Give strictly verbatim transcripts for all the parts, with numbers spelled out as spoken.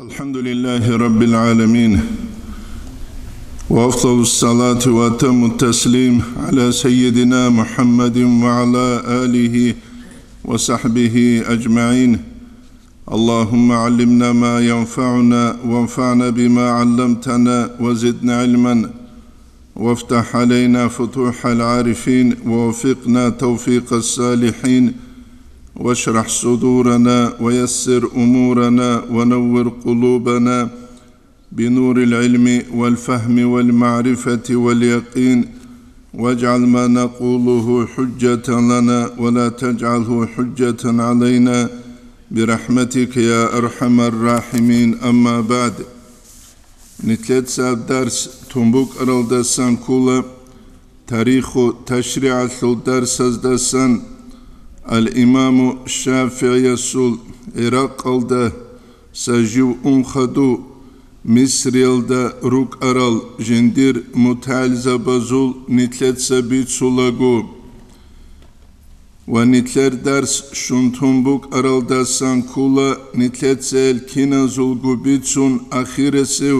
الحمد لله رب العالمين، وأفضل الصلاة وأتم التسليم على سيدنا محمد وعلى آله وصحبه أجمعين. اللهم علمنا ما ينفعنا وانفعنا بما علمتنا وزدنا علما، وافتح علينا فتوح العارفين، ووفقنا توفيق الصالحين، واشرح صدورنا، ويسر أمورنا، ونور قلوبنا بنور العلم والفهم والمعرفة واليقين، واجعل ما نقوله حجة لنا، ولا تجعله حجة علينا، برحمتك يا أرحم الراحمين. أما بعد. Нилъеца дарс тун букӀаралдасан ккола, тариху ташригӀалъул дарсаздасан, ал-Имаму ШафигӀиясул ГӀиракъалдаса жив ун хадув Мисриялда рукӀарал жиндир мутагӀилзабазул нилъеца бицулаго. Ва нилъер дарс щун тун букӀаралдасан ккола нилъеца гьел киназулго бицун ахирасев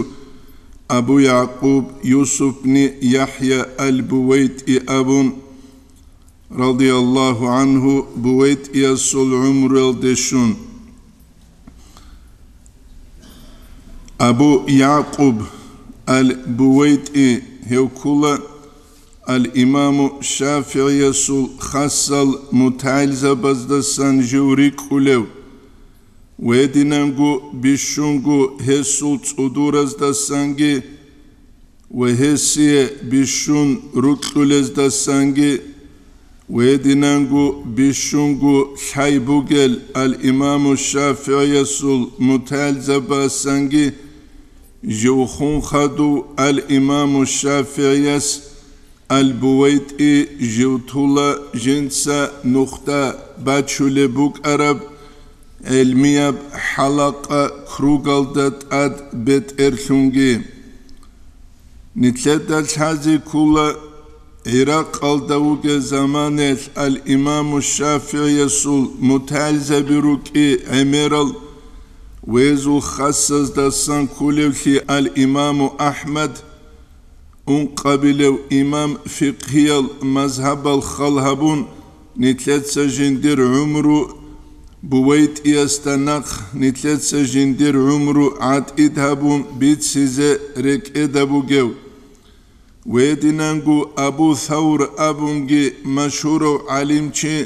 Абу Якъуб Юсуф бни ЯхӀя ал-БувайтӀи абун, радияллагьу гӀангьу, БувайтӀиясул гӀумруялде щун. Абу Якъуб ал-БувайтӀи гьев ккола ал-Имаму ШафигӀиясул хасал мутагӀилзабаздасан жив рикӀкӀулев, ва гьединанго бищунго гьесул цӀудураздасанги ва гьесие бищун рукьулездасанги ва гьединанго бищунго лъай бугел ал-Имаму ШафигӀиясул мутагӀилзабасанги жив хун хадув ал-Имаму ШафигӀияс ал-БувайтӀи жив тула жинца нухда бачулеб букӀараб гӀелмияб хӀалакъа кругалда тӀад бетӀерлъунги. Нилъеда лъазе ккола, ГӀиракъалда вугеб заманаялъ ал-Имаму ШафигӀиясул мутагӀилзаби рукӀи гӀемерал ва гьезул хасаздасан кколевлъи ал-Имаму АхӀмад, ункъабилев имам, фикъгьиял мазгьабал хал гьабун, нилъеца жиндир гӀумру БувайтӀиясда нахъ нилъеца жиндир гӀумру гӀатӀид гьабун бицизе рекӀеда бугев. Гьединанго Абу Савр абунги машгьурав гӀалимчи,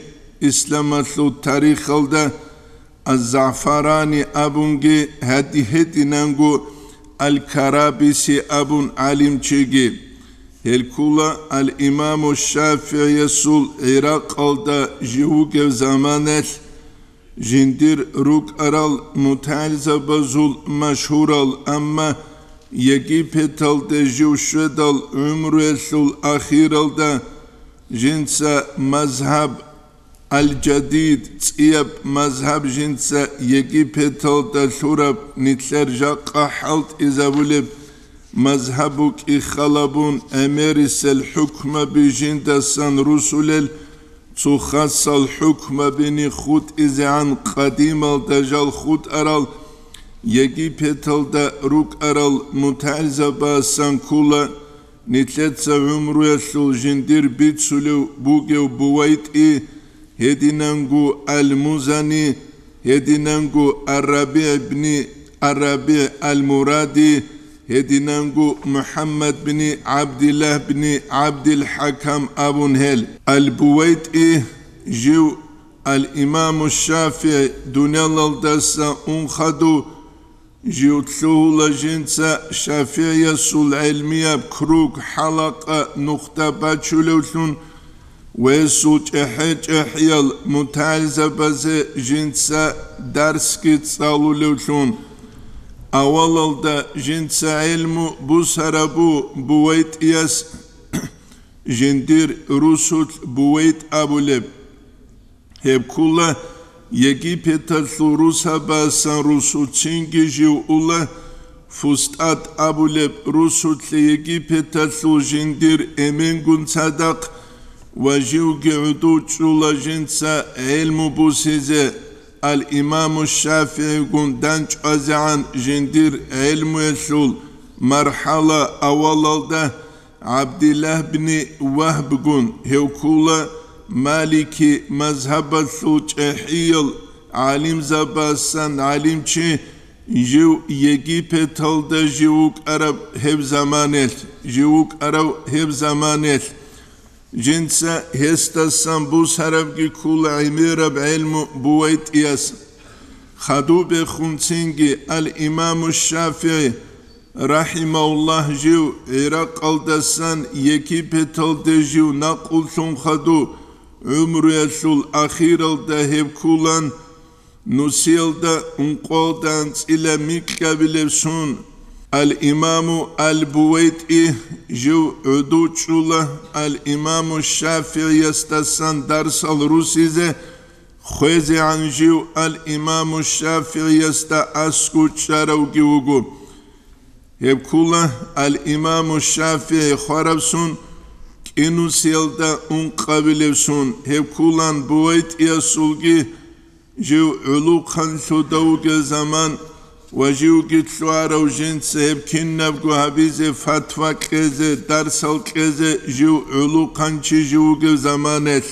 исламалъул тарихалда Аз-ЗагӀфарани абунги, гьади-, гьединанго Ал-Карабиси абун гӀалимчиги. Гьел ккола ал-Имаму ШафигӀиясул ГӀиракъалда жив вугев заманалъ жиндир рукӀарал мутагӀилзабазул машгьурал, амма Египеталде жив щведал гӀумруялъул ахиралда жинца мазгьаб Ал-Жадид, цӀияб мазгьаб жинца Египеталда лъураб нилъер жакъа хӀалтӀизабулеб мазгьаб букӀин халабун, гӀемерисел хӀукмаби жиндасан русулел цо хасал хӀукмабине хутӀизегӀан къадималда жал хутӀарал Египеталда рукӀарал мутагӀилзабасан ккола. Нилъеца гӀумруялъул жиндир бицулев бугев БувайтӀи, гьединанго Ал-Музани, гьединанго Ар-РабигӀ бни Ар-РабигӀ Ал-Муради, гьединанго МухӀаммад бни ГӀабдиллагь бни ГӀабдил-ХӀакам абун гьел. Ал-БувайтӀи жив ал-Имаму ШафигӀи дуниялалдаса ун хадув, жив лъугьула жинца ШафигӀиясул гӀелмияб круг, хӀалакъа, нухда бачулевлъун ва гьесул чӀехӀе-чӀехӀиял мутагӀилзабазе жинца дарсги цӀалулевлъун. Авалалда жинца гӀелму бусарабу БувайтӀияс жиндир русулъ БувайтӀ абулеб. Гьеб ккола Египеталъул русабасан русуцинги жив ула, ФустӀат абулеб русулъе Египеталъул жиндир эменгун цадахъ ва живги гӀодов чӀула жинца гӀелму бусизе, Ал-Имаму ШафигӀигун данчӀвазегӀан жиндир гӀелмуялъул мархӀала авалалда ГӀабдиллагь бни Вагьбгун, гьев ккула Малики мазгьабалъул чӀехӀиял гӀалимзабасан гӀалимчи, жив Египеталда жив вукӀараб гьеб заманалъ, жив вукӀарав гьеб заманалъ. Жинца гьесдасан бусарабги ккула гӀемераб гӀелму БувайтӀияс. Хадуб бехун цинги ал-Имаму ШафигӀи, рахӀимагьуллагь, жив ГӀиракъалдасан Египеталде жив накъуллъун хадуб, гӀумруялъул ахиралда гьеб ккулан, нусиялда ункъоялда анцӀила микьабилеб сун, ал-Имаму ал-БувайтӀи жив гӀодов чӀула, ал-Имаму ШафигӀиясдасан дарсал руссизе хвезегӀан жив ал-Имаму ШафигӀиясда аскӀов чӀаравги вуго. Гьеб ккула ал-Имаму ШафигӀи хвараб сун, кӀинусиялда ункъабилеб сун, гьеб ккулан БувайтӀиясулги жив гӀулухъанлъуда вугев заман ва живги лъугьарав жинца гьеб кинабго гьабизе, фатва кьезе, дарсал кьезе жив гӀулухъанчи жив вугев заманалъ.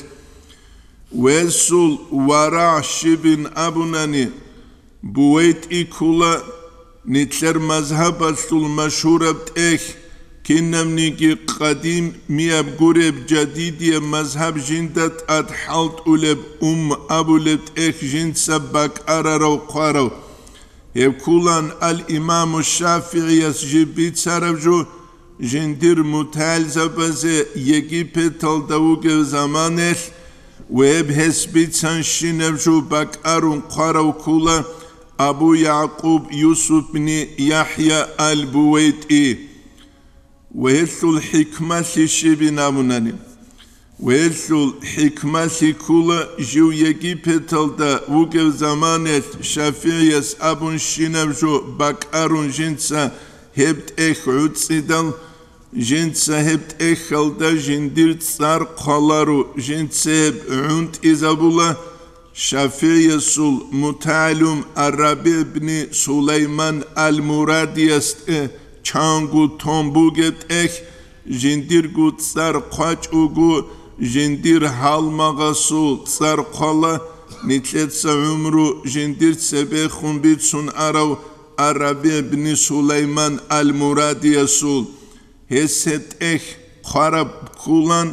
Гьесул варагӀ щибин абунани, БувайтӀи ккула нилъер мазгьабалъул машгьураб тӀехь, кинабниги къадимияб гуреб, жадидияб мазгьаб жинда тӀад хӀалтӀулеб, умм абулеб тӀехь жинца бакӀарарав хъварав. Гьеб ккулан ал-Имаму ШафигӀияс жиб бицараб жо, жиндир мутагӀилзабазе Египеталда вугев заманалъ, ва гьеб гьес бицанщинаб жо бакӀарун хъварав ккула Абу ЯгӀкъуб Юсуп бни ЯхӀя ал-БувайтӀи. Ва гьелъул хӀикмалъи щибин абунани? Ва гьелъул хӀикмалъи ккула, жив Египеталда вугев заманалъ ШафигӀияс абунщинаб жо бакӀарун жинца гьеб тӀехь гӀуцӀидал, жинца гьеб тӀехьалда жиндир цӀар хъваларо, жинца гьеб гӀунтӀизабула, ШафигӀиясул мутагӀалим ар-РабигӀ бни Сулайман ал-Мурадиясде чанго тун бугеб тӀехь, жиндирго цӀар хъвачӀого, жиндир гьалмагъасул цӀар хъвала, нилъеца гӀумру жиндир цебехун бицун арав ар-РабигӀ бни Сулайман ал-Мурадиясул. Гьес гьеб тӀехь хъвараб ккулан,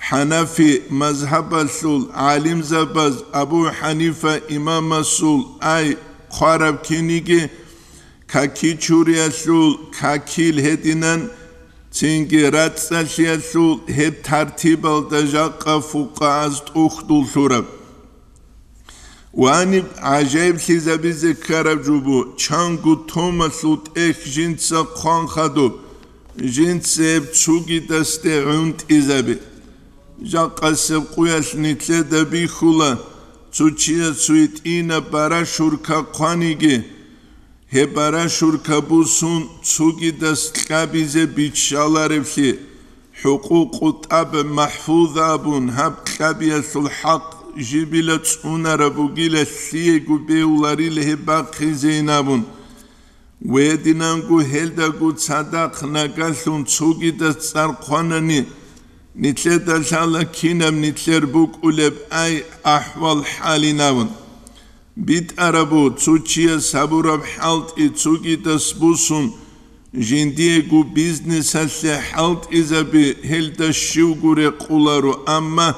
ХӀанафи мазгьабалъул гӀалимзабаз Абу ХӀанифа имамасул ай хъвараб киниги, каки чуриялъул какил гьединан, цинги рацӀцӀалъиялъул гьеб тартибалда жакъа фукъагьаз тӀухьдул лъураб. Ваниб гӀажаиблъизабизе ккараб жо бу, чанго томалъул тӀехь жинца хъван хадуб, жинца гьеб цугидасде гӀунтӀизаби. Жакъасеб къуялъ нилъеда бихьула, цо чияс цо гьитӀинаб барашурка хъваниги, гьеб барашурка бусун цугидас кьабизе биччалареблъи, хӀукъукъу тӀаб махӀфуз абун, гьаб кьабиялъул хӀакъ жибила цӀунараб бугила, лъиего бегьуларила гьеб бахъизейин абун. Гьединанго гьелдаго цадахъ нагалъун цогидас цӀар хъванани, нилъеда лъала кинаб нилъер букӀулеб ай ахӀвал-хӀалин абун. БитӀарабу цо чияс гьабураб хӀалтӀи цогидас бусун, жиндиего бизнесалъе хӀалтӀизаби гьелда щивго рекъоларо, амма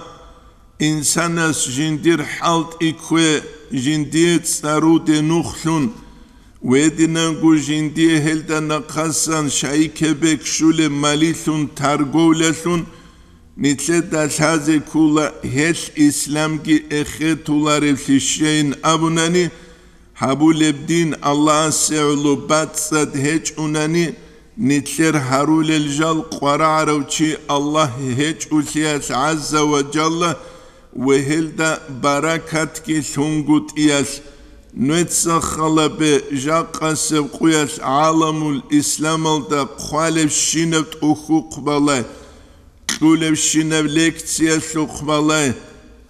инсанас жиндир хӀалтӀи ккве, жиндие цӀаруде нухлъун, гьединанго жиндие гьелда нахъасан шайикеб бекщулеб малилъун торговлялъун, нилъеда лъазе ккола гьелъ исламги эхетуларевлъи щейин абунани, гьабулеб дин Аллагьасе гӀоло бацӀцӀад гьечӀунани, нилъер гьарулел жал къварагӀарав чи Аллагь гьечӀулъиялъ гӀазза ва жалла ва гьелда баракатги лъунгутӀиялъ, нуеца халабе жакъасеб къуялъ гӀаламул исламалда хъвалебщинаб тӀухьухъ балай, кьулебщинаб лекциялъухъ балай,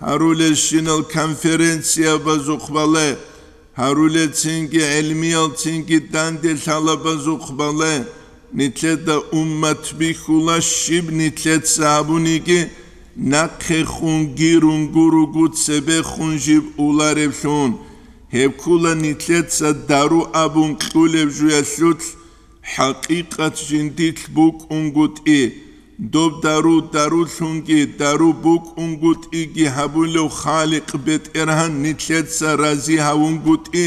гьарулелщинал конференциябазухъ бале, гьарулел цинги гӀелмиял цинги данде лъалабазухъ бале, нилъеда уммат бихьула, щиб нилъеца гьабуниги, нахъехун гирун гуруго цебехун жиб улареблъун. Гьеб ккула нилъеца дару абун кьулеб жуялъулъ, хӀакъикъат жиндилъ букӀунгутӀи, доб дару дарулъунги дару букӀунгутӀиги гьабулев Халикъ БетӀергьан нилъеца рази гьавунгутӀи,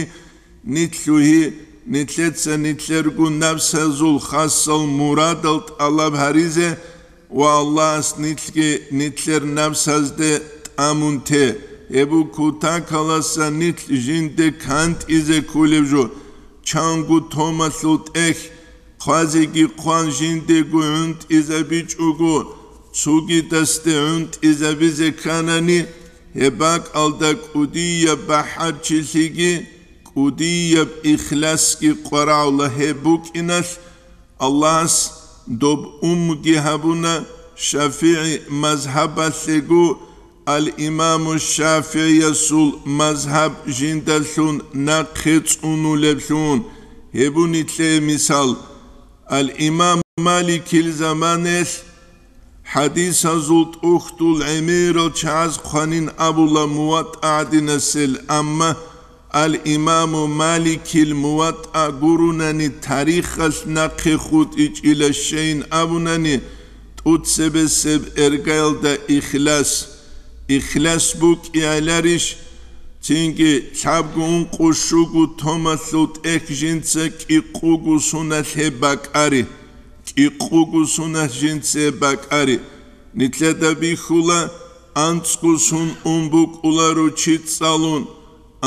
нилъ лъугьи, нилъеца нилъерго напсазул хасал мурадал тӀалаб гьаризе ва Аллагьас нилъги нилъер напсазде тӀамун те. Гьеб кутакаласа нилъ жинде кантӀизе ккулеб жо, чанго томалъул тӀехь, хъвазеги хъван жиндего гӀунтӀизабичӀого, цугидасде гӀунтӀизабизе кканани, гьеб бакӀалда кӀудияб бахӀарчилъиги, кӀудияб ихласги къварагӀула. Гьеб букӀиналъ, Аллагьас доб умги гьабуна ШафигӀи мазгьабалъего, ал-Имаму ШафигӀиясул мазгьаб жиндалъун нахъе цӀунулеблъун. Гьеб буго нилъее мисал. Ал-Имам Маликил заманаялъ хӀадисазул тӀухьдул гӀемерал чагӀаз хъванин абула МуватӀа гӀадинасел, амма ал-Имаму Маликил МуватӀа гурунани тарихалъ нахъе хутӀичӀила щайин абунани, тӀуцебесеб эргаялда ихлас. Ихлас букӀияларищ? Цинги лъабго ункъо щуго томалъул тӀехь жинца кӀикъуго суналъ гьеб бакӀари. КӀикъуго суналъ жинца гьеб бакӀари. Нилъеда бихьула, анцӀго сун ун букӀуларо чи цӀалун,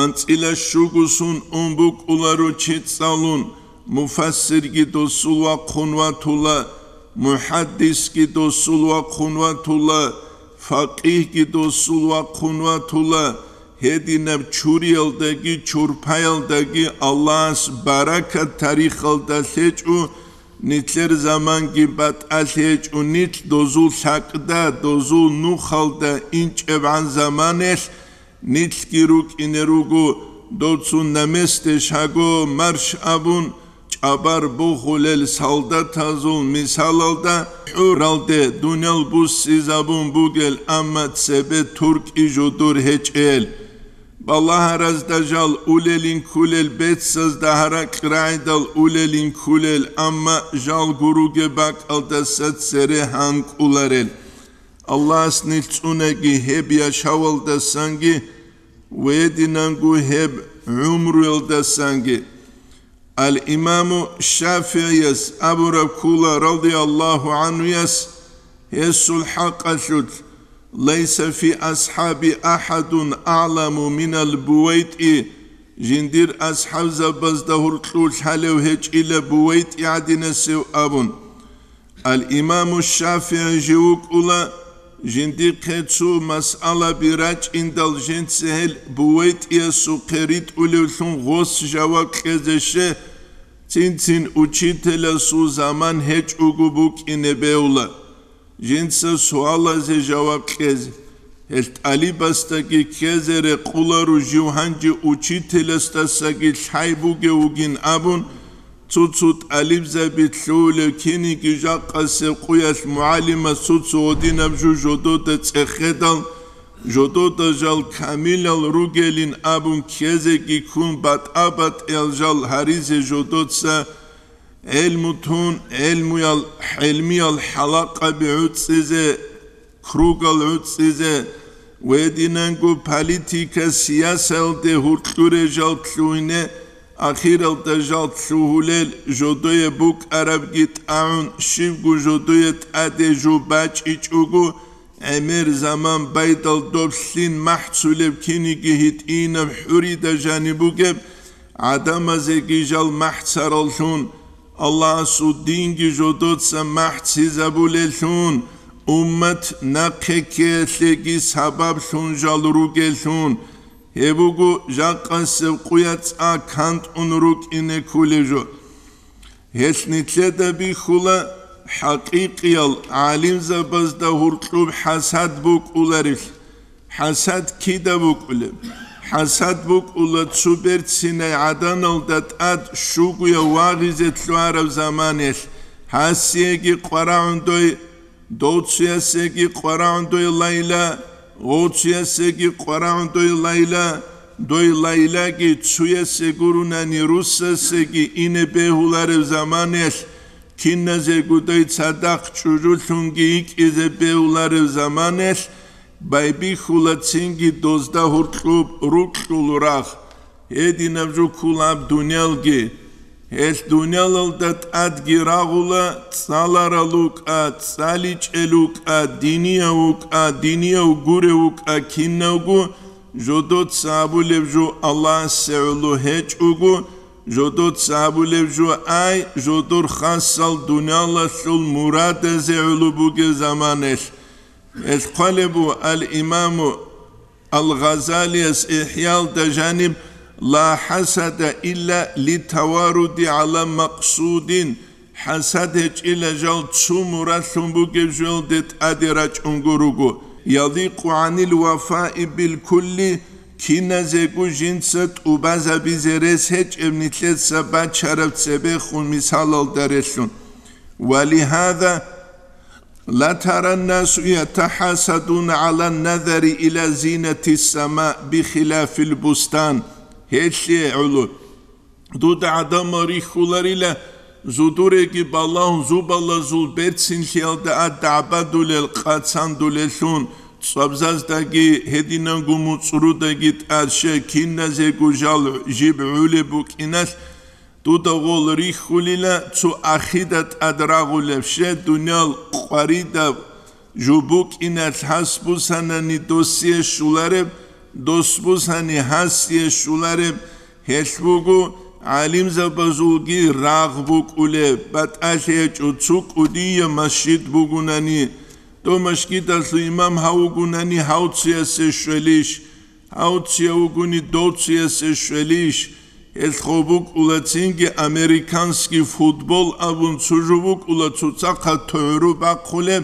анцӀила щуго сун ун букӀуларо чи цӀалун, муфассирги досул вахъун ватула, мухӀаддисги досул вахъун ватула, факъигьги досул вахъун ватула, гьединаб чуриялдаги чурпаялдаги Аллагьас баракат тарихалда лъечӀо, нилъер заманги батӀалъи гьечӀо, нилъ дозул лъакъда, дозул нухалда инчӀебгӀан заманаялъ нилъги рукӀине руго, доцун намесде шаго марш абун, чӀабар бухулел солдатазул мисалалда, хӀуралде дуниял буссизабун бугел, амма цебе туркӀи жодор гьечӀел. Балагьаразда жал улелин ккулел, бецазда гьаракь рагӀидал улелин ккулел, амма жал гуруге бакӀалдаса цере гьанкӀуларел. Аллагьас нилъ цӀунаги гьеб яшавалдасанги ва гьединанго гьеб гӀумруялдасанги. Ал-Имаму ШафигӀияс абураб ккула, радияллагьу гӀанхуяс, гьесул хӀакъалъулъ: «Лайса фи асхӀаби ахӀадун а'ламу минал БувайтӀи», жиндир асхӀабзабазда гьуркьулъ лъалев гьечӀила БувайтӀи гӀадинасев абун. Ал-Имаму ШафигӀи жив вукӀула, жиндихъе цо масъалаби рачӀиндал жинца гьел БувайтӀиясухъе ритӀулевлъун гъос жаваб кьезе щве, цин-цин учителасул заман гьечӀого букӀине бегьула. Жинца суалазе жаваб кьезе. Гьел тӀалибасдаги ккезе рекъоларо жив гьанже учителасдасаги лъай бугев вугин абун, цо-цо тӀалибзаби лъугьулев киниги жакъасеб къуялъ мугӀалимас цо-цо гьединаб жо жодода цӀехедал, жодода жал камилал ругелин абун ккезеги ккун, батӀа-батӀиял жал гьаризе жодоца гӀелму тун, гӀелмуял, гӀелмиял хӀалакъаби гӀуцӀизе, кругал гӀуцӀизе, гьединанго политика-сиясаялде гьуркьуре жал лъугьине, ахиралда жал лъугьулел, жодое букӀарабги тӀагӀун, щибго жодое тӀаде жо бачӀичӀого, гӀемер заман байдал доб лъин махӀцулеб киниги гьитӀинаб хӀурида жаниб бугеб, гӀадамазеги жал махӀцараллъун, Аллагьасул динги жодоца махӀцизабулеллъун, уммат нахъе ккеялъеги сабаблъун жал ругеллъун, гьеб буго жакъасеб къуя цӀа кантӀун рукӀине кколеб жо. Гьелъ нилъеда бихьула хӀакъикъиял гӀалимзабазда гьуркьуб хӀасад букӀуларелъ. ХӀасад кида букӀулеб? ХӀасад букӀула цо берцинай гӀаданалда тӀад щугояв вагъизе лъугьараб заманалъ, гьасиеги къварагӀун дой, дов цуясеги къварагӀун дой лайла, гъов цуясеги къварагӀун дой лайла, дой лайлаги цуясе гурунани руссасеги ине бегьулареб заманалъ, киназего дой цадахъ чӀужулъунги йикӀизе бегьулареб заманалъ, байбихьула цинги дозда гьоркьоб рукьул рагъ. Гьединаб жо ккола гьаб дуниялги. Гьелъ дуниялалда тӀадги рагъула цӀаларал вукӀа, цӀаличӀел вукӀа, динияв вукӀа, динияв гурев вукӀа кинавго, жодоца абулеб жо Аллагьасе гӀоло гьечӀого, жодоца абулеб жо ай, жодор хасал дуниялалъул мурадазе гӀоло бугеб заманалъ. Гьелъ хъвалеб буго ал-Имаму ал-Гъазалияс ИхӀялда жаниб: «Ла хӀасада илла литаваруди гӀала макъсудин», хӀасад гьечӀила жал цо мурадлъун бугеб жоялде тӀаде рачӀунго руго, «яликъу гӀанил вафаи бил кулли», киназего жинца тӀубазабизе рес гьечӀеб нилъеца бачараб цебехун мисалалда релълъун. «Ва лигьаза ла таран насу ятахӀасадуна гӀалан назари ила зинати сама бихилафил бустан». Гьелъие гӀоло дуда гӀадамал рихьуларила, зудуреги балагьун зубалазул берцинлъиялда а дагӀбадулел, къацандулеллъун, цӀвабзаздаги гьединанго муцӀрудаги тӀад щай киназего жал жиб гӀулеб букӀиналъ, дуда гъол рихьулила цо ахида тӀад рагъулеб, щай дуниял къваридаб жо букӀиналъ гьас бусанани досие щулареб, дос бусани гьасие щулареб, гьелъ буго гӀалимзабазулги рагъ букӀулеб, батӀалъи гьечӀо цо кӀудияб масжид бугунани, дов масжидалъул имам гьав вугунани гьав цуясе щвелищ? Гьав цуяв вугони дов цуясе щвелищ? Гьелъ гъо букӀула цинги американский футбол абун цо жо букӀула, цоцахъа тугӀру бахъулеб,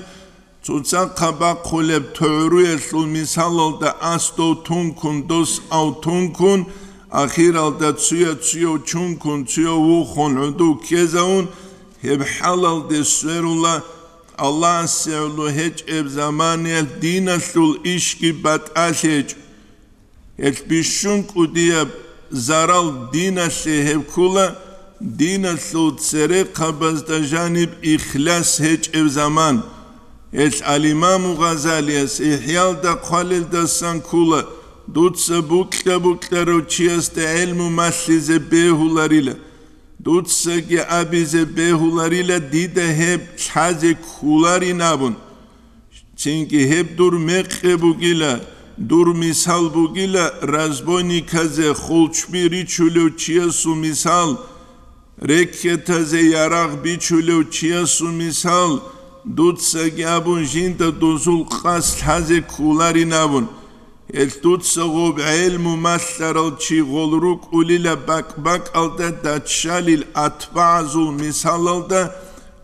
цоцахъа бахъулеб тугӀруялъул мисалалда ас дов тункун, дос ав тункун, ахиралда цуя-цуяв чункун, цуяв вухун гӀодов ккезавун, гьеб хӀалалде сверула Аллагьасе гӀоло гьечӀеб заманаялъ диналъул ишги батӀалъи гьечӀо. Гьелъ бищун кӀудияб зарал диналъе гьеб ккола, диналъул церехъабазда жаниб ихлас гьечӀеб заман. Гьелъ ал-Имаму Гъазалияс ИхӀялда хъвалелдасан ккола: «Дуца букьа-букьарав чиясда гӀелму малъизе бегьуларила». Дуцаги абизе бегьуларила дида гьеб лъазе кколарин абун. Цинги гьеб дур мекъи бугила, дур мисал бугила разбойниказе хулчби ричулев чиясул мисал, рекетазе ярагъ бичулев чиясул мисал, дуцаги абун жинда дозул къасд лъазе кколарин абун. Гьелъ дуца гъоб гӀелму малъарал чи гъол рукӀулила бакӀ-бакӀалда даччалил атбагӀазул мисалалда,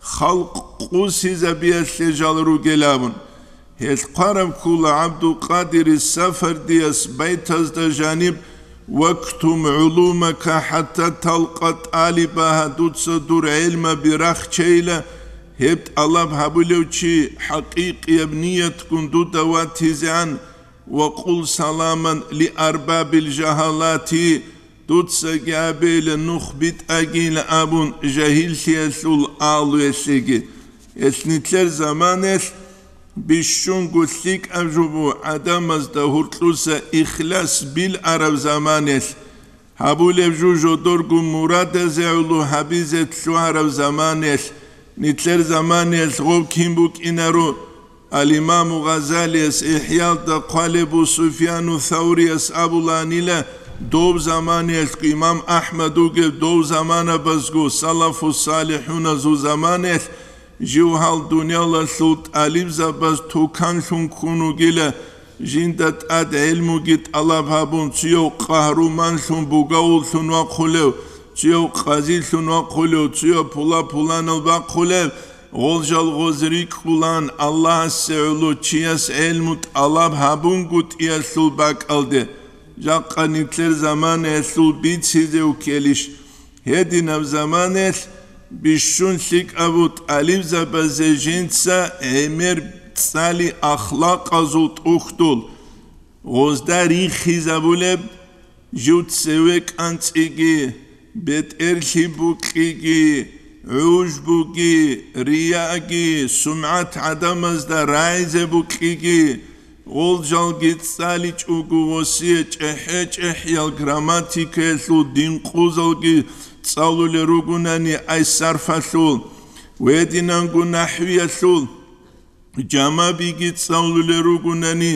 халкъ къусизабиялъе жал ругел абун. Гьелъ хъвараб ккола ГӀабдулкъадири Сафардияс байтазда жаниб: «Вактум гӀулумака хӀатта талкъа тӀалибаха», дуца дур гӀелмаби рахчейила, гьеб тӀалаб гьабулев чи хӀакъикъияб ниятгун дуда ватизегӀан, «Ва къул саламан ли арбабил жагьалати», дуцаги абейила нух битӀагийила абун жагьиллъиялъул агьлуялъеги. Гьелъ нилъер заманаялъ бищунго лъикӀаб жо буго гӀадамазда гьуркьуса ихлас билараб заманаялъ. Гьабулеб жо жодорго мурадазе гӀоло гьабизе лъугьараб заманаялъ, нилъер заманаялъ гъов кин букӀинаро? Ал-Имаму Гъазалияс ИхӀялда хъвалеб бу Суфьяну Саврияс абулаанила, дов заманаялъго имам АхӀмад вугев дов заманабазго салафу салихӀуназул заманаялъ жив гьал дуниялалъул тӀалибзабаз туканлъун ккун вугила, жинда тӀад гӀелмуги тӀалаб гьабун, цуяв къагьруманлъун бугавуллъун вахъулев, цуяв къазилъун вахъулев, цуяв пула-пуланал бахъулев, Гъол жал гъоз рикӀкӀулан Аллагьасе гӀоло чияс гӀелму тӀалаб гьабунгутӀиялъул бакӀалде, жакъа нилъер заманаялъул бицизе уккелищ? Гьединаб заманаялъ бищун лъикӀабу тӀалибзабазе жинца гӀемер цӀали ахлакъазул тӀухьдул, гъозда рихизабулеб, жив цеве кӀанцӀиги, бетӀерлъи букьиги, гӀужбуги, рияги, сумгӀат гӀадамазда рагӀизе букьиги, гъол жалги цӀаличӀого гъосие чӀехӀе-чӀехӀиял грамматикаялъул динкъузалги цӀалулел ругунани, ай сарфалъул, гьединанго нахӀвиялъул, жамабиги цӀалулел ругунани,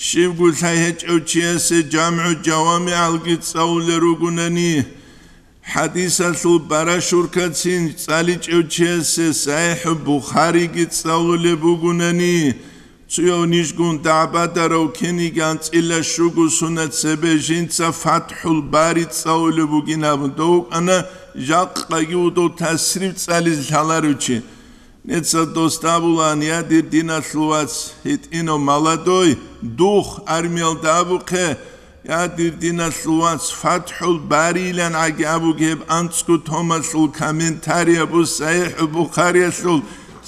щибго лъай гьечӀев чиясе жамгӀу жавамигӀалги цӀалулел ругунани, хӀадисалъул барашуркацин цӀаличӀев чиясе СахӀихӀу Бухариги цӀалулеб бугунани, цуяв нижгун дагӀбадарав киниги анцӀила щуго сунат цебе жинца ФатхӀул Бари цӀалулеб бугин абун, дов вукӀана жакъаги вудов тасриф цӀализе лъаларев чи. Нецал дос абулаан: «Я, дир диналъул вац, гьитӀинав молодой, дух армиялда абухъе, я, дир диналъул вац, ФатхӀул Бариилан гӀаги абуге гьеб анцӀго томалъул комментарияб, СахӀихӀул Бухариялъул,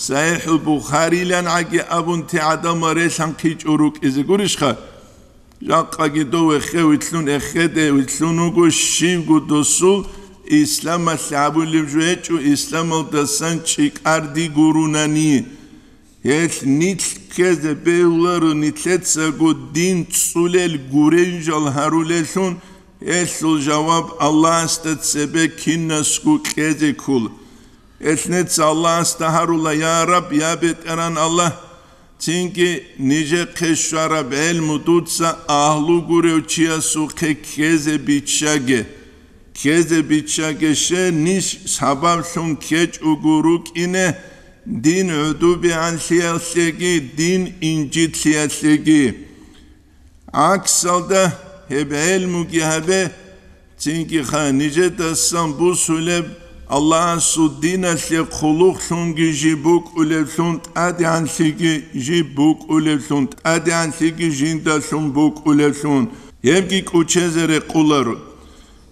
СахӀихӀул Бухариилан гӀаги абун, те гӀадамал релъанхъичӀо рукӀизе гурищха?» Жакъаги дов вехе вилълъун эхеде вилълъун вуго щивго досул, исламалъ гьабулеб жо гьечӀо, исламалдасан чӀикӀарди гурунани. Гьелъ нилъ ккезе бегьуларо нилъецаго дин цӀулел гуренжал гьарулеллъун, гьелъул жаваб Аллагьасда цебе кинасго кьезе ккола. Гьелъ нецца Аллагьасда гьарула: «Я Раб, я БетӀеран Аллагь, цинги нижехъе щвараб гӀелму дуца агьлу гурев чиясухъе ккезе биччаге. Ккезе биччаге, ще ниж сабаблъун ккечӀого рукӀине дин гӀодобегӀанлъиялъеги, дин инжитлъиялъеги». ГӀаксалда гьеб гӀелмуги гьабе, цинги ха нижедасан бусулеб Аллагьасул диналъе хъулухълъунги жиб букӀулевлъун, тӀадегӀанлъиги жиб букӀулевлъун, тӀадегӀанлъиги жиндалъун букӀулевлъун, гьебги кӀучезе рекъоларо.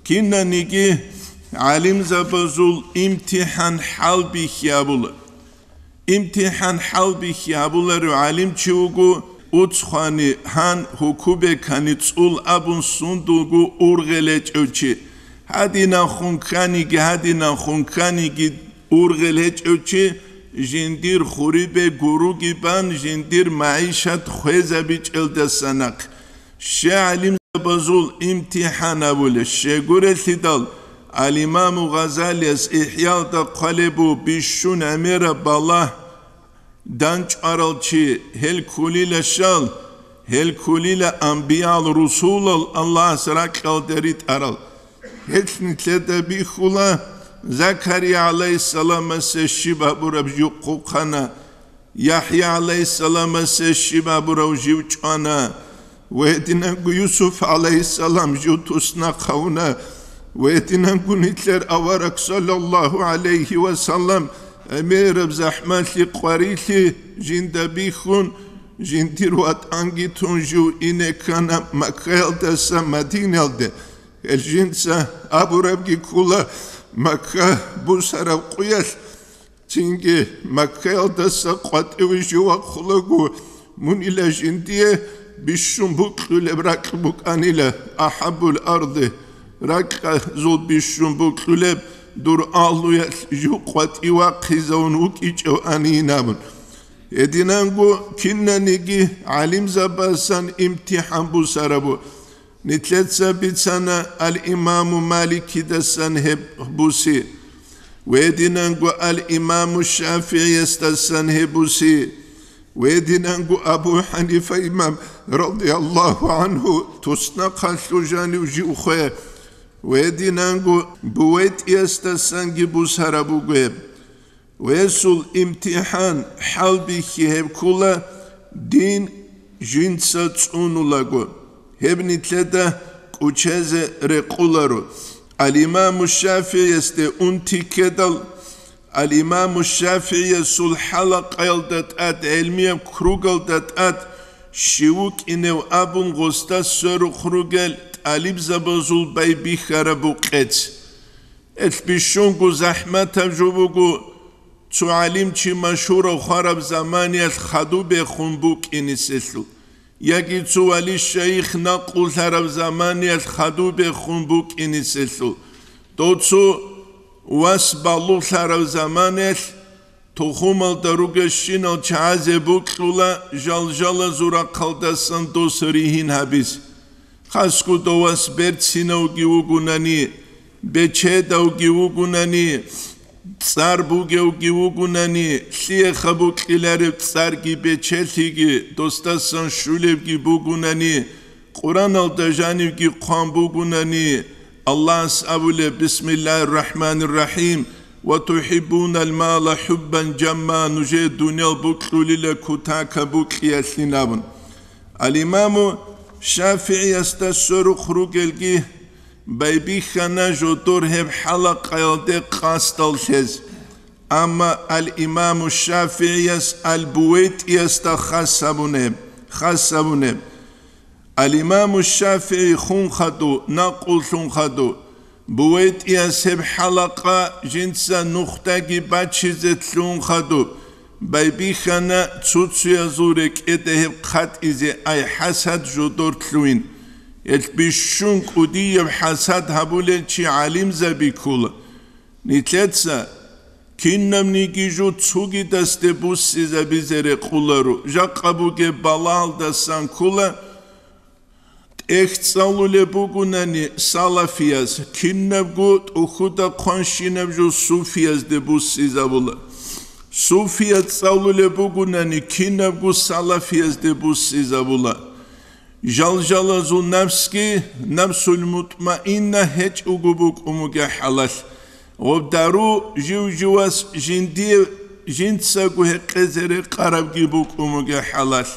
Кинаниги гӀалимзабазул имтихӀан хӀалбихьи абула. ИмтихӀан хӀалбихьи гьабуларев гӀалимчи вуго, уцхъани гьан гьукубекани цӀул абун сундулго ургъел гьечӀев чи. Гьадинанхун кканиги, гьадинанхун кканиги ургъел гьечӀев чи, жиндир хурибе гуруги бан, жиндир магӀишат хвезабичӀелдаса нахъ. Ще гӀалимзабазул имтихӀан абулеб щегурелъидал, ал-Имаму Гъазалияс ИхӀялда хъвалеб бу: бищун гӀемераб балагь данчӀварал чи, гьел кколила щал, гьел кколила анбиял-русулал Аллагьас ракьалде ритӀарал. Гьелъ нилъеда бихьула Закария гӀалайгьиссаламасе щиб абураб жив хъухъана, ЯхӀя гӀалайгьиссаламасе щиб абурав жив чӀвана, ва гьединанго Юсуф гӀалайгьиссалам жив туснахъ гьавуна, ва гьединанго нилъер авараг, саллаллагьу гӀалайгьи ва саллам, гӀемераб захӀмалъи къварилъи жинда бихьун, жиндир ватӀанги тун жив ине ккана Маккаялдаса Мадинаялде. Гьел жинца абурабги ккола Макка бусараб къуялъ. Цинги Маккаялдаса къватӀиве жив вахъулаго, мунила жиндие бищун букьулеб ракь букӀанила, ахӀаббул арди, ракьазул бищун букьулеб дур агьлуялъ жив къватӀив вахъизавун вукӀичӀев анин абун. Гьединанго кинаниги гӀалимзабасан имтихӀан бусарабу. Нилъеца бицана ал-Имаму Маликидасан гьеб буси, ва гьединанго ал-Имаму ШафигӀиясдасан гьеб буси, ва гьединанго Абу ХӀанифа имам, радияллагьу гӀангьу, туснахъалъув жанив жив хве, ва гьединанго БувайтӀиясдасанги бусараб буго гьеб. Гьесул имтихӀан хӀалбихьи гьеб ккола, дин жинца цӀунулаго, гьеб нилъеда кӀучезе рекъоларо. Ал-Имаму ШафигӀиясде унти ккедал, Ал-Имаму ШафигӀиясул хӀалакъаялда тӀад, гӀелмияб кругалда тӀад щив вукӀинев абун гъосда сверухъ ругел тӀалибзабазул байбихьараб букъец. Гьелъ бищунго захӀматаб жо буго, цо гӀалимчи машгьурав хвараб заманиялъ хадубехун букӀиниселъул, яги цо вали-шайих накълулъараб заманиялъ хадубехун букӀиниселъул, дов цо вас балугълъараб заманиялъ тухумалда ругелщинал чагӀазе бокьула жалжалазул рахъалдасан дос ригьин гьабизе. Хасго дов вас берцинавги вугунани, бечедавги вугунани, цӀар бугевги вугунани, лъиеха бокьилареб цӀарги бечелъиги, досдасан щулебги бугунани, Къураналда жанивги хъван бугунани, Аллагьас абулеб: «Бисмиллагьир рахӀманир рахӀим, ва тухӀиббунал мала хӀуббан жамма», нужее дуниял бокьулила кутака бокьиялъин абун. Ал-Имаму ШафигӀиясда сверухъ ругелги байбихьана жодор гьеб хӀалакъаялде къасдал лъез. Амма ал-Имаму ШафигӀияс ал-БувайтӀиясда хас гьабунеб, хас гьабунеб. Ал-Имаму ШафигӀи хун хадув, накълулъун хадув, БувайтӀияс гьеб хӀалакъа жинца нухдаги бачизе лъугьун хадуб, байбихьана цуцуязул рекӀеде гьеб хъатӀизе, ай хӀасад жодор лъугьин. Гьелъ бищун кӀудияб хӀасад гьабулел чи гӀалимзаби ккола. Нилъеца кинабниги жо цугидасде буссизабизе рекъоларо, жакъа бугеб балагьалдасан ккола, тӀехь цӀалулеб бугунани салафияз, кинабго тӀухьуда хъванщинаб жо суфиязде буссизабула. Суфияз цӀалулеб бугунани кинабго салафиязде буссизабула. Жалжалазул напсги, напсул мутмаинна гьечӀого букӀун бугеб хӀалалъ, гъоб дару жив-живас жиндие жинцаго гьекъезе рекъарабги букӀун бугеб хӀалалъ.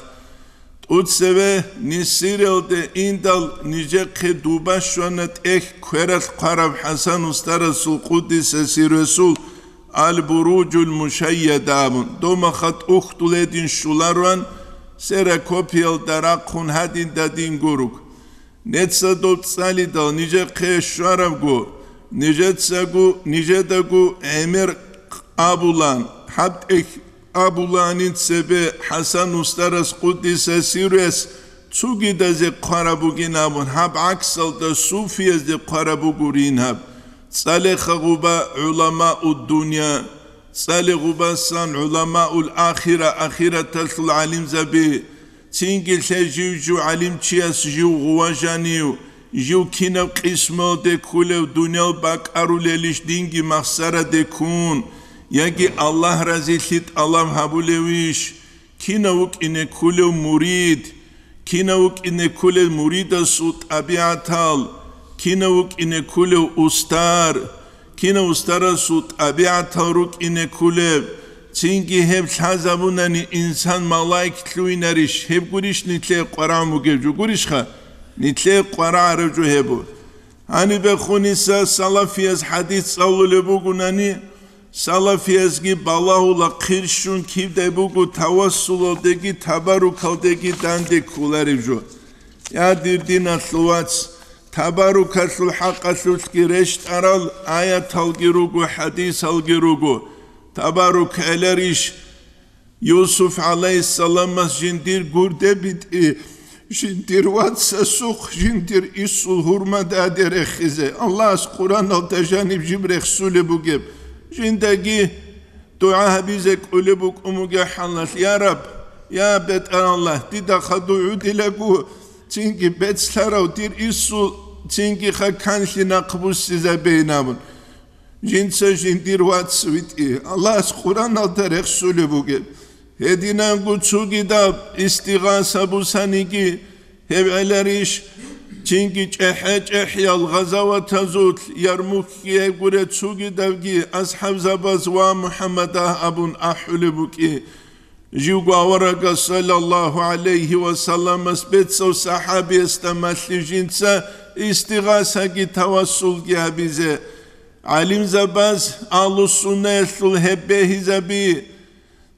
ТӀуцеве Нисиралде индал нижехъе дуба щвана тӀехь квералъ хъвараб ХӀасан устарасул, къуддиса сирругьу, Ал-Буруджул Мушайяда абун, домаха тӀухьдул гьедин щулароан, ксерокопиялда рахъун гьадин-дадин гуруг. Неца доб цӀалидал нижехъе щварабго, нижецаго, нижедаго гӀемер абулан, гьаб тӀехь абуланин цебе ХӀасан устарас, къуддиса сирругьу, цугидазе хъвараб бугин абун, гьаб гӀаксалда суфиязде хъвараб бугурин гьаб. ЦӀалеха гъуба гӀуламаул дунья, цӀале гъубасан гӀуламаул ахира, ахираталъул гӀалимзаби, цинги лъе жив-жив гӀалимчияс жив гъува жанив, жив кинаб къисмалде кколев, дуниял бакӀарулелищ динги махсараде ккун, яги Аллагь разилъи тӀалаб гьабулевищ? Кинав вукӀине кколев мурид, кинав вукӀине кколев муридасул тӀабигӀатал, кинав вукӀине кколев устар, кинав устарасул тӀабигӀатал рукӀине кколеб, цинги гьеб лъазабунани инсан малаик лъугьинарищ, гьеб гурищ нилъее къварагӀун бугеб жо, гурищха? Нилъее къварагӀараб жо гьеб буго. Гьанибехун гьесда салафияз хӀадис цӀалулеб бугунани, салафиязги балагьула хъирщун кибдай буго тавассулалдеги табаррукалдеги данде кколареб жо. Я, дир диналъул вац, табаррукалъул хӀакъалъулъги рещтӀарал аяталги руго, хӀадисалги руго. Табаррук гӀеларищ? Юсуф гӀалайгьиссаламас жиндир гурде битӀи, жиндир вацасухъ жиндир исул гьурмададе рехизе, Аллагьас Къураналда жаниб жиб рехсулеб бугеб, жиндаги дугӀа гьабизе кӀолеб букӀун бугеб хӀалалъ: «Я Рабб, я БетӀераллагь, дида хадув гӀодилаго, цинги бецлъарав дир исул, цинги хъа канлъи нахъ буссизабейин», – абун. Жинца жиндир вац витӀи, Аллагьас Къураналда рехсулеб бугеб. Гьединанго цогидаб истигъаса бусаниги, гьеб гӀеларищ, цинги чӀехӀе-чӀехӀиял гъазаватазулъ, Ярмукги гьеб гуре цогидабги асхӀабзабаз ва МухӀаммадагь абун ахӀулеб букӀи. Живго аварагас, саллаллагьу гӀалайгьи ва салламас, бецав сахӀабиясда малъи жинца истигъасаги тавассулги гьабизе. ГӀалимзабаз, агьлу-суннаялъул гьеб бегьизаби,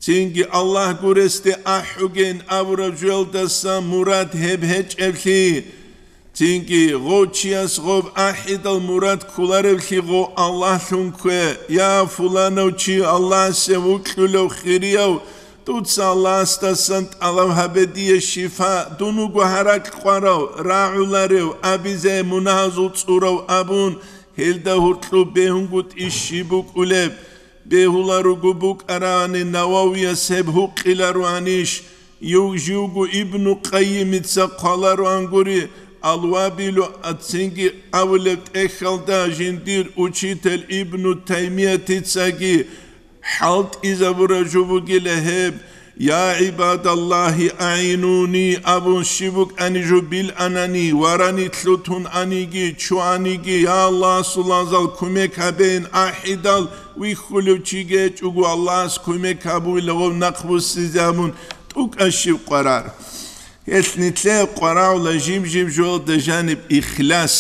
цинги Аллагь гуресде ахӀугейин абураб жоялдаса мурад гьеб гьечӀеблъи, цинги гъов чияс гъоб ахӀидал мурад кколареблъи гъов Аллагьлъун ккве: «Я, фуланав чи, Аллагьасе вукьулев хирияв, дуца Аллагьасдасан тӀалаб гьабе дие шифа, дун вуго гьаракь къварав, рагӀуларев, абизе мунагьазул цӀурав», – абун, гьелда гьуркьуб бегьунгутӀи щиб букӀулеб? Бегьуларуго букӀарани, Нававияс гьеб гьукъилароанищ? Юг-, живго Ибну Къаййимица хъвалароан гури, Ал-Вабилу, ацинги абулеб тӀехьалда жиндир учитель Ибну Таймиятицаги хӀалтӀизабураб жо бугила гьеб: «Я гӀибадаллагьи, агӀинуни», – абун щиб букӀани жо биланани, варани лъутун аниги, чуаниги, «Я Аллагьасул вацал, кумек гьабейин», ахӀидал, вихьулев чиги гьечӀого, Аллагьас кумек гьабуйла гъов нахъбуссизе абун тӀукӀа щиб къварар. Гьелъ нилъее къварагӀула жиб-жиб жоялда жаниб ихлас.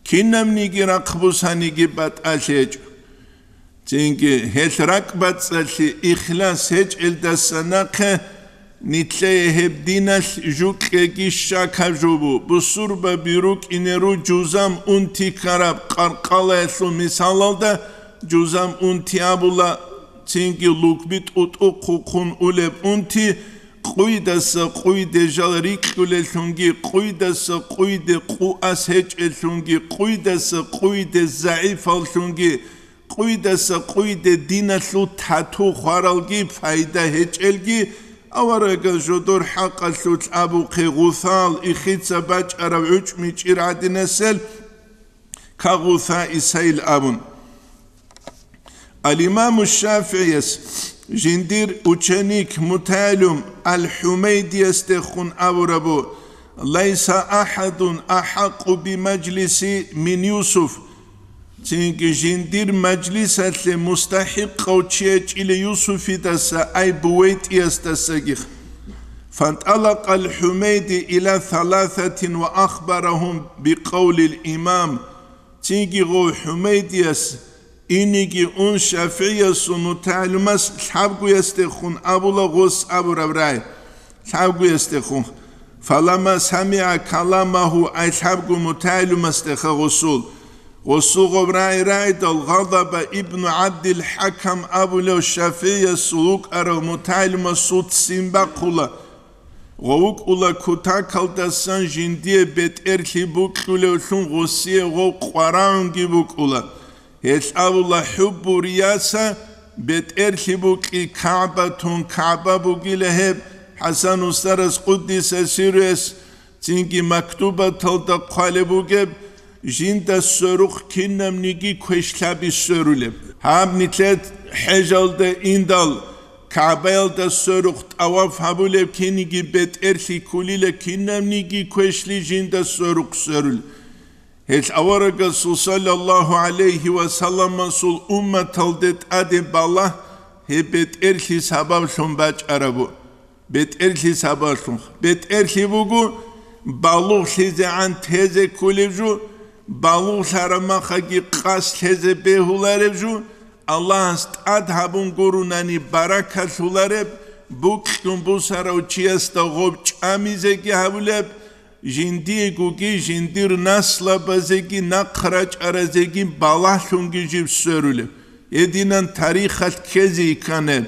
Кинабниги рахъ бусаниги батӀалъи гьечӀо. Цинги гьелъ ракӀбацӀцӀалъи ихлас гьечӀелдаса нахъе нилъее гьеб диналъ жукьеги щакаб жо бу, бусурбаби рукӀине ру жузам унти ккараб къаркъалаялъул мисалалда, жузам унти абула, цинги лукби тӀутӀухъухъун улеб унти, къуйдаса къуйде жал рикьулеллъунги, къуйдаса къуйде къуас гьечӀеллъунги, къуйдаса къуйде загӀипаллъунги, къуйдаса къуйде диналъул тату хваралги пайда гьечӀелги, аварагас жодор хӀакъалъулъ абухъе гъусал ихица бачӀарав гӀучӀмичӀир гӀадинасел кагъуса Исаил абун. Ал-Имаму ШафигӀияс жиндир ученик мутагӀалим Ал-ХӀумайдиясдехун абурабу: «Лайса ахӀадун ахӀакъу бимажлиси мин Юсуф». Цинги жиндир мажлисалъе мустахӀикъав чи гьечӀила Юсуфидаса, ай БувайтӀиясдасагих. فانطلق الحميدي إلى ثلاثة وأخبرهم بقول الإمام. Цинги гъов ХӀумайдияс иниги ун ШафигӀиясул мутагӀалимас лъабгоясдехун абула гъос абураб рагӀи. Лъабгоясдехун. فلما سمع كلامه, ай лъабго мутагӀалимасдеха гъосул. Гъосул гъоб рагӀи рагӀидал, غضب ابن عبد الحكم абулев ШафигӀиясул вукӀарав мутагӀалимасул ццин бахъула. Гъов вукӀула кутакалдасан жиндие бетӀерлъи букьулевлъун, гъосие гъов къварагӀунги букӀула. Гьелъ абула: «ХӀуббу рияса, бетӀерлъи букьи КагӀбатун, КагӀба бугила гьеб». ХӀасан устарас, къуддиса сирругьу, цинги мактубаталда хъвалеб бугеб, жинда сверухъ кинабниги квешлъаби сверулеб. Гьаб нилъер хӀежалда индал, КагӀбаялда сверухъ тӀаваф гьабулеб киниги бетӀерлъи кколила, кинабниги квешлъи жинда сверухъ сверулеб. Гьелъ аварагасул саллаллагьу гӀалайгьи ва салламасул умматалде тӀаде балагь гьеб бетӀерлъи сабаблъун бачӀарабу. БетӀерлъи сабаблъун. БетӀерлъи буго, балугълъизегӀан тезе кколеб жо, балугълъараб махаги къас лъезе бегьулареб жо, Аллагьас тӀад гьабун гурунани баракалъулареб, букьун бусарав чиясда гъоб чӀамизеги гьабулеб, жиндиегоги, жиндир наслабазеги, нахъ рачӀаразеги балагьлъунги жиб сверулеб. Гьединан тарихалъ ккезе йикканеб.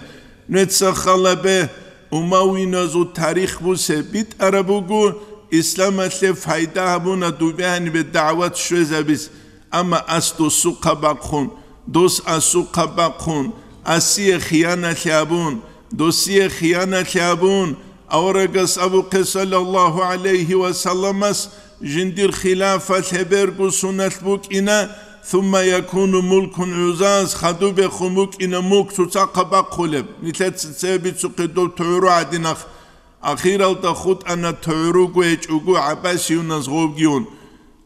Нуца халабе, умавиназул тарих бусе битӀараб буго, исламалъе пайда гьабуна дубе гьанибе дагӀват щвезабиз, амма ас досухъа бахъун, дос асухъа бахъун, асие хияналъи гьабун, досие хияналъи гьабун, аварагас абухъе саллаллагьу гӀалайгьи ва салламас жиндир хилафалъ гьеберго суналъ букӀина, ثم يكون ملك عزاز, хадубехун букӀина мулк цоцахъа бахъулеб, нилъеца цебе бицухъе доб тугӀру гӀадинахъ. Ахиралда хутӀана тугӀруго гьечӀого гӀаббасиюназ гъовгиюн.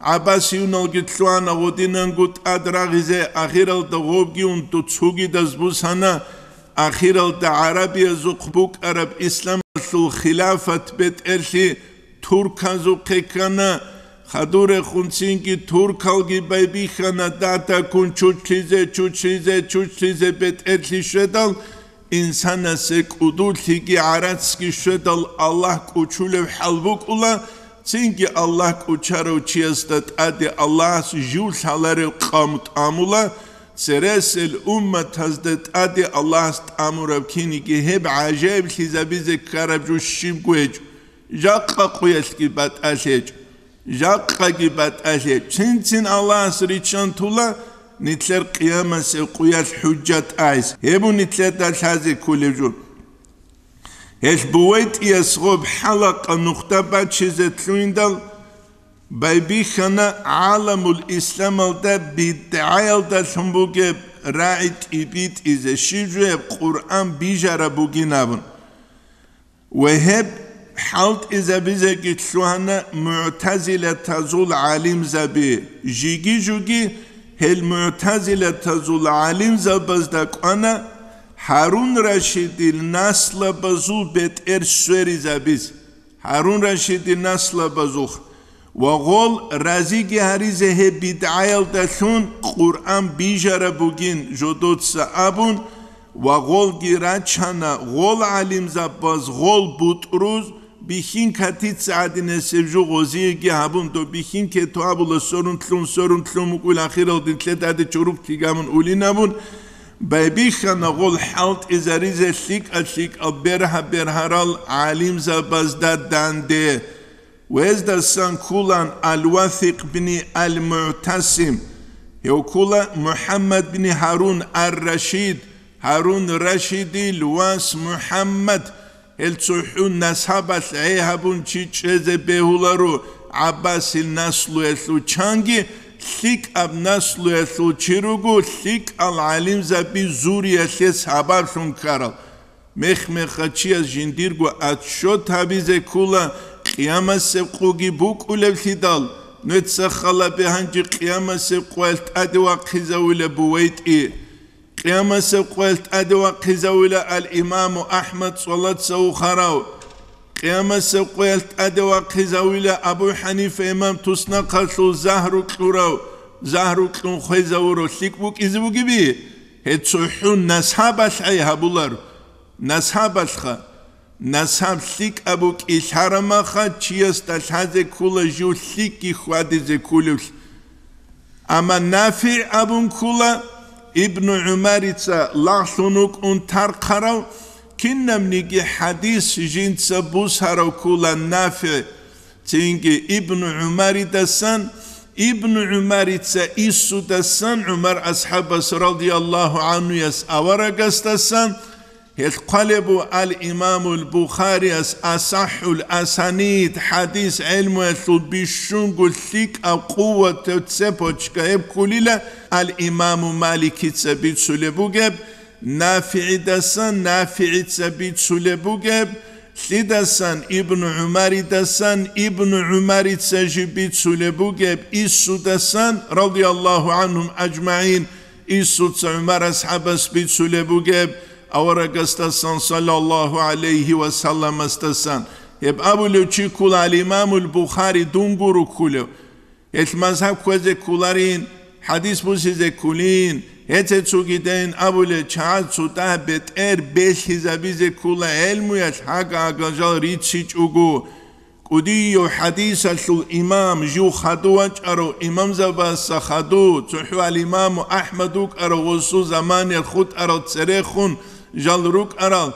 ГӀаббасиюналги лъугьана гъодинанго тӀад рагъизе, ахиралда гъовгиюн цогидаз бусана, ахиралда гӀарабиязухъ букӀараб исламалъул хилафат бетӀерлъи турказухъе ккана, Хадурехун цинги туркалги байбихьана датаккун чучлъизе, чучлъизе, чучлъизе бетӀерлъи щведал, инсанасе кӀудуллъиги гӀарацги щведал Аллагь кӀучулев хӀал букӀула, цинги Аллагь кӀучарав чиясда тӀаде Аллагьас жив лъаларев къавм тӀамула, цересел умматазда тӀаде Аллагьас тӀамураб киниги гьеб гӀажаиблъизабизе ккараб жо щибго гьечӀо. Жакъа къуялъги батӀалъ гьечӀо, жакъаги батӀалъ гьечӀо. Цин-цин Аллагьас риччан тула нилъер къиямасеб къуялъ хӀужжат айс. Гьеб нилъеда лъазе кколеб жо. Гьелъ БувайтӀияс гъоб хӀалакъа нухда бачизе лъугьиндал, байбихьана гӀаламул исламалда бидгӀаялдалъун бугеб рагӀи тӀибитӀизе, щиб жо гьеб Къуръан бижараб бугин абун. Ва гьеб хӀалтӀизабизеги лъугьана мугӀтазилатазул гӀалимзаби. Жиги-жуги гьел мугӀтазилатазул гӀалимзабазда кӀвана Гьарун Рашидил наслабазул бетӀер сверизабиз. Гьарун Рашидил наслабазухъ. Ва гъол разиги гьаризе гьеб бидгӀаялдалъун Къуръан бижараб бугин жодоца абун, ва гъолги рачана, гъол гӀалимзабаз гъол бутӀруз бихьин катица гӀадинасеб жо гъозиеги гьабун, доб бихьин кето абула сорун лъун, сорун лъун мукӀуйла ахирал динлъедаде чорухъ кигамун улин абун, байбихьана гъол хӀалтӀизаризе лъикӀа-лъикӀал бергьа-бергьарал гӀалимзабазда данде. Гьездасан кколан Ал-Васикъ бни Ал-МугӀтасим, гьев ккола МухӀаммад бни Гьарун Ар-Рашид, Гьарун Рашидил вас МухӀаммад, гьел цохӀун насабалъ гӀей гьабун чи чӀезе бегьуларо ГӀаббасил наслуялъул чанги, лъикӀаб наслуялъул чи руго, лъикӀал гӀалимзаби зуриялъе сабаблъун ккарал. Мех-меха чияс жиндирго отчет гьабизе ккола, къиямасеб къуги букӀулевлъидал, нуца халабе гьанже къиямасеб къуялъ тӀаде вахъизавила БувайтӀи. Къиямасеб къуялъ тӀаде вахъизавила ал-Имаму АхӀмад цӀолаца вухарав. Къиямасеб къуялъ тӀаде вахъизавила Абу ХӀанифа имам туснахъалъул загьру кьурав, загьру кьун хвезавурав лъикӀ букӀизе бугеби? Гьеб цохӀун насабалъ гӀей гьабулар. Насабалъха. Насаб лъикӀаб букӀин лъарамаха, чиясда лъазе ккола жив лъикӀги хьвадизе кколевлъи. Амма НафигӀ абун ккола, Ибну ГӀумарица лагълъун вукӀун тархъарав, кинабниги хӀадис жинца бусарав ккола НафигӀ. Цинги Ибну ГӀумаридасан, Ибну ГӀумарица иссудасан, ГӀумар асхӀабас радияллагьу гӀанхуяс аварагасдасан, гьелъ хъвалеб буго ал-Имамул Бухарияс асахӀул асанид, хӀадис гӀелмуялъул бищунго лъикӀаб къуватаб цепочка гьеб кколила, ал-Имаму Маликица бицулеб бугеб, НафигӀидасан, НафигӀица бицулеб бугеб, лъидасан Ибну ГӀумаридасан, Ибну ГӀумарица жиб бицулеб бугеб, иссудасан, радияллагьу гӀанхум ажмагӀин, иссуца ГӀумар асхӀабас бицулеб бугеб, аварагасдасан, саллаллагьу гӀалайгьи ва салламасдасан. Гьеб абулев чи ккола ал-Имамул Бухари, дун гуро кколев. Гьелъ мазгьаб кквезе кколарин, хӀадис бусизе кколин, гьеце цогидайин абулеб, чагӀаз цо дагь бетӀер белъизабизе ккола гӀелмуялъ гьага-гьагал жал рицичӀого. КӀудияв хӀадисалъул имам жив хадув вачӀарав имамзабазда хадув, цохӀо ал-Имаму АхӀмад вукӀарав, гъосул заманаялъ хутӀарал церехун жал рукӀарал.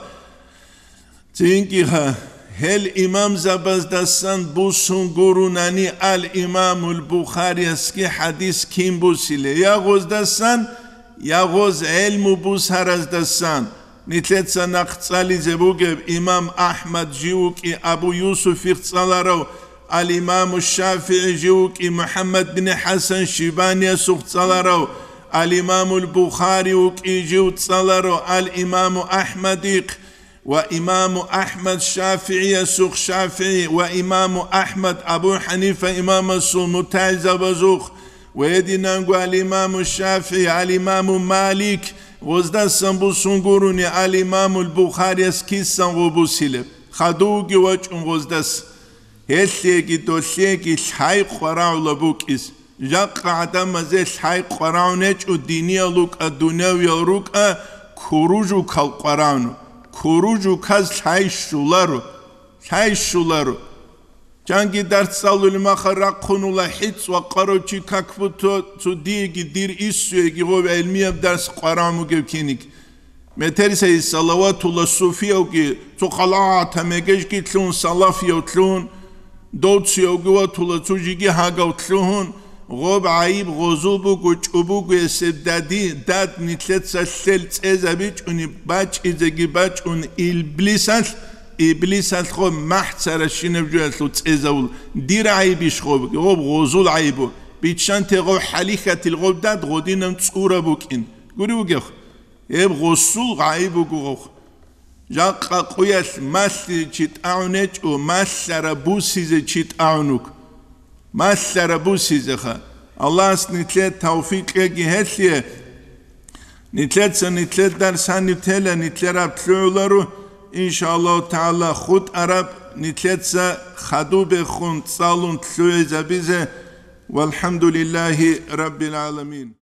Цинги гьа, гьел имамзабаздасан бусун гурунани ал-Имамул Бухариясги хӀадис кин бусилеб, я гъоздасан, я гъоз гӀелму бусараздасан. Нилъеца нахъ цӀализе бугеб, имам АхӀмад жив вукӀи Абу Юсуфихъ цӀаларав, ал-Имаму ШафигӀи жив вукӀи МухӀаммад бин ХӀасан Шибаниясухъ цӀаларав, ал-Имамул Бухари вукӀи жив цӀаларав, ал-Имаму АхӀмадихъ, ва имаму АхӀмад ШафигӀиясухъ ШафигӀи ва имаму АхӀмад Абу ХӀанифа имамасул мутагӀилзабазухъ ва гьединанго ал-имаму ШафигӀи, ал-имаму Малик, гъоздасан бусун гурони, ал-имамул Бухарияс кисан гъо бусилеб, хадувги вачӀун гъоздас. Гьелъеги долъеги лъай къварагӀула букӀис. Жакъа гӀадамазе лъай къварагӀун гьечӀо, диниял рукӀа, дунявиял рукӀа, куружукал къварагӀуну. Куружуказ лъай щуларо, лъай щуларо. Чанги дарс цӀалулеб махал рахъунула хӀицӀ ва къарав чи как будто цо диеги дир иссуеги гъов гӀилмияб дарс къварагӀун бугев киниг. Метерисайи салаватула суфиявги, цо халатаб мегежги лъугьун, салафияв лъугьун, довциявги ватула цо жиги гьагав лъугьун, гъоб гӀайиб гъозул буго, чӀобогоясеб дади, дад нилъеца лъел цӀезабичӀони бачӀизеги бачӀун иблисалъ, иблисалъ гъоб махӀ царащинаб жоялъул цӀезавул. Дир гӀайибищ гъоб? Гъоб гъозул гӀайибу. Биччанте гъов хӀалихьатил гъоб дад гъодинан цӀураб букӀин. Гури вугев? Гьеб гъосул гӀайиб буго гъов. Жакъа къуялъ малъи чи тӀагӀун гьечӀо, малъараб бусизе чи тӀагӀун вуго. Малъараб бусизеха. Аллагьас нилъе тавфикъ кьеги гьелъие. Нилъеца нилъер дарс гьаниб тела, нилъераб лъугӀуларо, иншааллагьу тагӀала, хутӀараб нилъеца хадубехун цӀалун лъугӀизабизе. ВалхӀамдулиллагьи раббил гӀаламин.